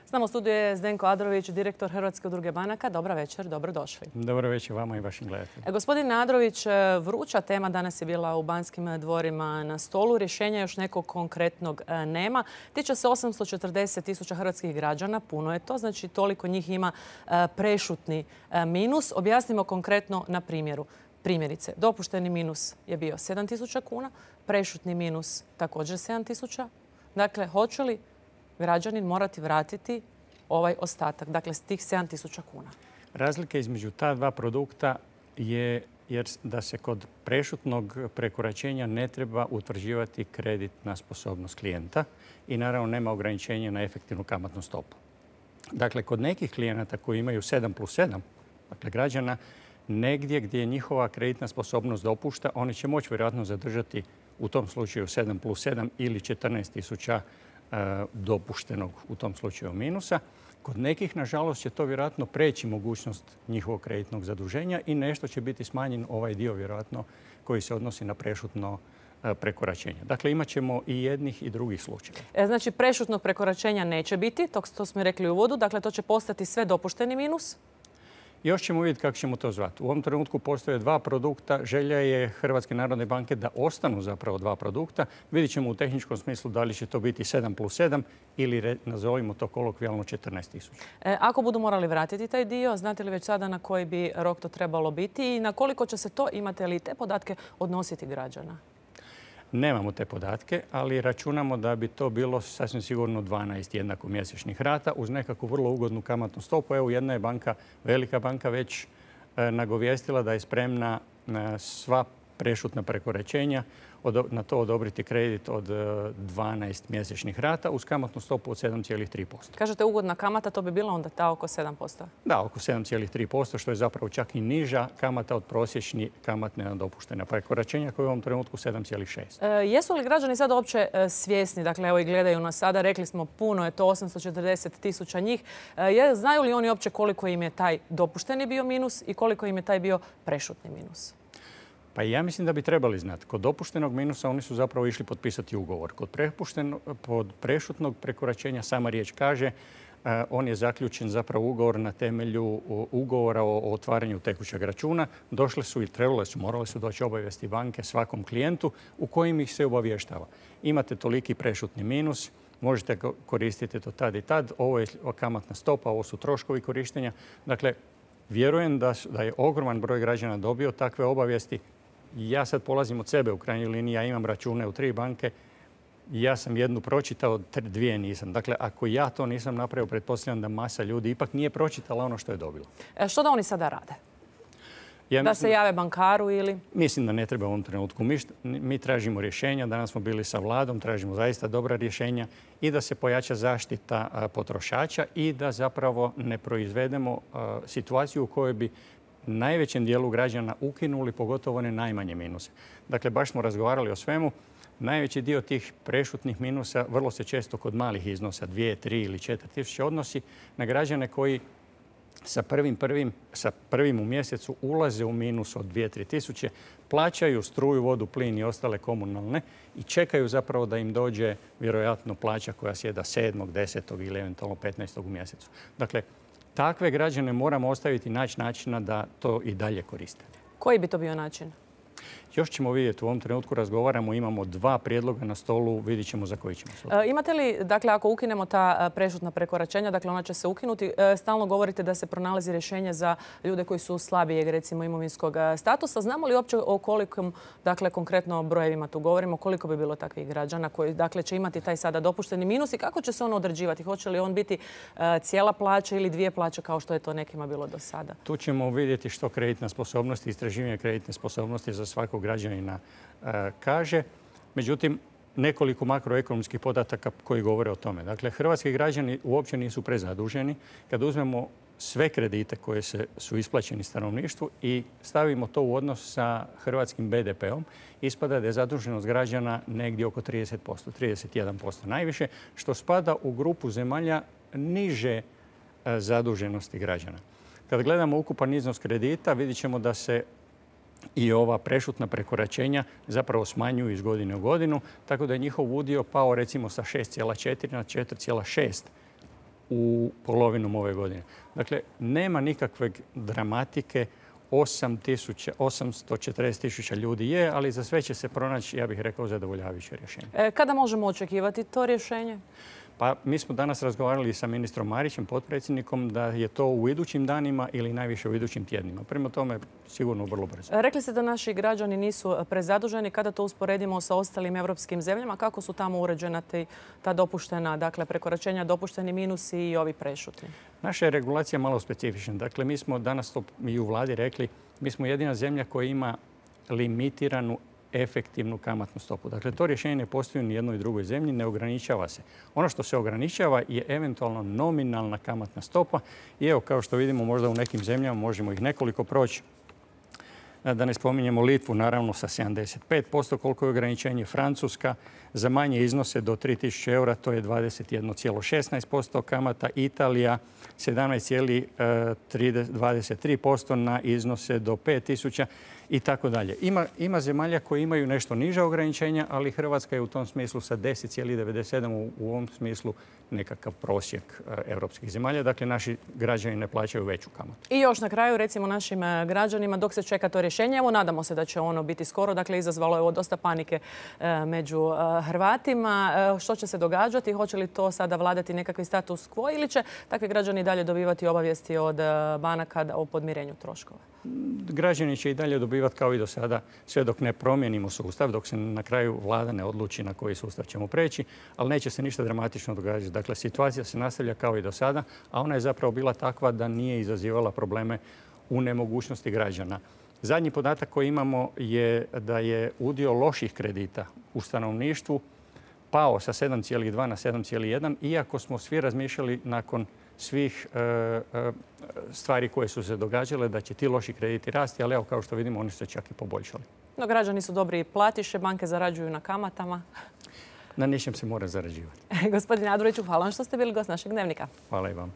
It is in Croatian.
S nama u studiju je Zdenko Adrović, direktor Hrvatske udruge banaka. Dobra večer, dobrodošli. Dobro večer vama i vašim gledateljima. Gospodin Adrović, vruća tema danas je bila u Banskim dvorima na stolu. Rješenja još nekog konkretnog nema. Tiče se 840.000 hrvatskih građana. Puno je to, znači toliko njih ima prešutni minus. Objasnimo konkretno na primjeru. Primjerice, dopušteni minus je bio 7.000 kuna, prešutni minus također 7.000. Dakle, hoće li građanin morati vratiti ovaj ostatak, dakle s tih 7.000 kuna? Razlika između ta dva produkta je jer da se kod prešutnog prekoračenja ne treba utvrđivati kreditna sposobnost klijenta i naravno nema ograničenja na efektivnu kamatnu stopu. Dakle, kod nekih klijenata koji imaju 7+7, dakle građana, negdje gdje njihova kreditna sposobnost dopušta, oni će moći vjerojatno zadržati u tom slučaju 7+7 ili 14.000 dopuštenog u tom slučaju minusa. Kod nekih, nažalost, će to vjerojatno preći mogućnost njihovog kreditnog zaduženja i nešto će biti smanjen ovaj dio vjerojatno koji se odnosi na prešutno prekoračenje. Dakle, imat ćemo i jednih i drugih slučajeva. Znači, prešutnog prekoračenja neće biti, to smo rekli u uvodu, dakle to će postati sve dopušteni minus? Još ćemo vidjeti kako ćemo to zvati. U ovom trenutku postoje dva produkta. Želja je Hrvatske narodne banke da ostanu zapravo dva produkta. Vidjet ćemo u tehničkom smislu da li će to biti 7+7 ili nazovimo to kolokvijalno 14.000. Ako budu morali vratiti taj dio, znate li već sada na koji bi rok to trebalo biti i na koliko će se to, imate li te podatke, odnositi građana? Nemamo te podatke, ali računamo da bi to bilo sasvim sigurno 12 jednakomjesečnih rata uz nekakvu vrlo ugodnu kamatnu stopu. Evo, jedna je banka, velika banka, već nagovijestila da je spremna sva prešutna prekoračenja na to odobriti kredit od 12 mjesečnih rata uz kamatnu stopu od 7,3%. Kažete ugodna kamata, to bi bila onda ta oko 7%? Da, oko 7,3%, što je zapravo čak i niža kamata od prosječni kamatne nadopuštena prekoračenja koja je u ovom trenutku 7,6%. Jesu li građani sada uopće svjesni, dakle evo i gledaju nas sada, rekli smo puno je to 840.000 njih, znaju li oni uopće koliko im je taj dopušteni bio minus i koliko im je taj bio prešutni minus? Pa ja mislim da bi trebali znati. Kod dopuštenog minusa oni su zapravo išli potpisati ugovor. Kod prešutnog prekoračenja sama riječ kaže on je zaključen zapravo ugovor na temelju ugovora o otvaranju tekućeg računa. Došle su i morale su doći obavijesti banke svakom klijentu u kojim ih se obavještava. Imate toliki prešutni minus, možete koristiti to tad i tad. Ovo je kamatna stopa, ovo su troškovi korištenja. Dakle, vjerujem da je ogroman broj građana dobio takve obavijesti. Ja sad polazim od sebe u krajnjoj liniji, ja imam račune u 3 banke, ja sam jednu pročitao, 2 nisam. Dakle, ako ja to nisam napravio, pretpostavljam da masa ljudi ipak nije pročitala ono što je dobila. Što da oni sada rade? Da se jave bankaru ili? Mislim da ne treba u ovom trenutku. Mi tražimo rješenja. Danas smo bili sa vladom, tražimo zaista dobra rješenja i da se pojača zaštita potrošača i da zapravo ne proizvedemo situaciju u kojoj bi najvećem dijelu građana ukinuli pogotovo one najmanje minuse. Dakle, baš smo razgovarali o svemu. Najveći dio tih prešutnih minusa vrlo se često kod malih iznosa, 2, 3 ili 4 tisuće, odnosi na građane koji sa prvim u mjesecu ulaze u minus od 2-3 tisuće, plaćaju struju, vodu, plin i ostale komunalne i čekaju zapravo da im dođe vjerojatno plaća koja sjeda 7., 10. ili eventualno 15. u mjesecu. Dakle, takve građane moramo ostaviti naći načina da to i dalje koriste. Koji bi to bio način? Još ćemo vidjeti, u ovom trenutku razgovaramo, imamo 2 prijedloga na stolu, vidjet ćemo za koji ćemo se. Imate li, dakle, ako ukinemo ta prešutna prekoračenja, dakle ona će se ukinuti, stalno govorite da se pronalazi rješenje za ljude koji su slabijeg, recimo, imovinskog statusa. Znamo li uopće o kolikom, dakle, konkretno brojevima tu govorimo, koliko bi bilo takvih građana koji, dakle, će imati taj sada dopušteni minus i kako će se on određivati? Hoće li on biti cijela plaća ili 2 plaće kao što je to nekima bilo do sada? Tu ćemo vidjeti što kreditna sposobnost i istraživanje kreditne sposobnosti za svakog građanina kaže. Međutim, nekoliko makroekonomskih podataka koji govore o tome. Dakle, hrvatski građani uopće nisu prezaduženi. Kad uzmemo sve kredite koje su isplaćeni stanovništvu i stavimo to u odnos sa hrvatskim BDP-om, ispada da je zaduženost građana negdje oko 30%, 31% najviše, što spada u grupu zemalja niže zaduženosti građana. Kad gledamo ukupan iznos kredita, vidjet ćemo da se i ova prešutna prekoračenja zapravo smanjuju iz godine u godinu, tako da je njihov udio pao recimo sa 6,4 na 4,6 u polovinom ove godine. Dakle, nema nikakve dramatike. 840.000 ljudi je, ali za sve će se pronaći, ja bih rekao, zadovoljavajuće rješenje. Kada možemo očekivati to rješenje? Pa mi smo danas razgovarali sa ministrom Marićem, potpredsjednikom, da je to u idućim danima ili najviše u idućim tjednima. Prema tome, sigurno vrlo brzo. Rekli ste da naši građani nisu prezaduženi. Kada to usporedimo sa ostalim europskim zemljama, kako su tamo uređena ta dopuštena, dakle, prekoračenja, dopušteni minusi i ovi prešutni? Naša je regulacija malo specifična. Dakle, mi smo danas to i u vladi rekli, mi smo jedina zemlja koja ima limitiranu efektivnu kamatnu stopu. Dakle, to rješenje ne postoji ni u jednoj drugoj zemlji, ne ograničava se. Ono što se ograničava je eventualno nominalna kamatna stopa. I evo, kao što vidimo, možda u nekim zemljama možemo ih nekoliko proći. Da ne spominjemo Litvu, naravno, sa 75%, koliko je ograničenje. Francuska za manje iznose do 3.000 eura, to je 21,16% kamata. Italija 17,23% na iznose do 5.000 i tako dalje. Ima zemalja koje imaju nešto niža ograničenja, ali Hrvatska je u tom smislu sa 10,97 u ovom smislu nekakav prosjek europskih zemalja. Dakle, naši građani ne plaćaju veću kamatu. I još na kraju, recimo našim građanima, dok se čeka to rješenje, evo nadamo se da će ono biti skoro. Dakle, izazvalo je ovo dosta panike među Hrvatima. Što će se događati? Hoće li to sada vladati nekakvi status quo ili će takvi građani dalje dobivati obavijesti od banaka o podmirenju troškova? Građani će i dalje dobivati kao i do sada, sve dok ne promijenimo sustav, dok se na kraju vlada ne odluči na koji sustav ćemo preći, ali neće se ništa dramatično događati. Dakle, situacija se nastavlja kao i do sada, a ona je zapravo bila takva da nije izazivala probleme u nemogućnosti građana. Zadnji podatak koji imamo je da je udio loših kredita u stanovništvu pao sa 7,2 na 7,1, iako smo svi razmišljali nakon svih stvari koje su se događale da će ti loši krediti rasti, ali evo, kao što vidimo, oni su se čak i poboljšali. No, građani su dobri platiše, banke zarađuju na kamatama. Na ničem se mora zarađivati. Gospodine Aduliću, hvala vam što ste bili gost našeg Dnevnika. Hvala i vam.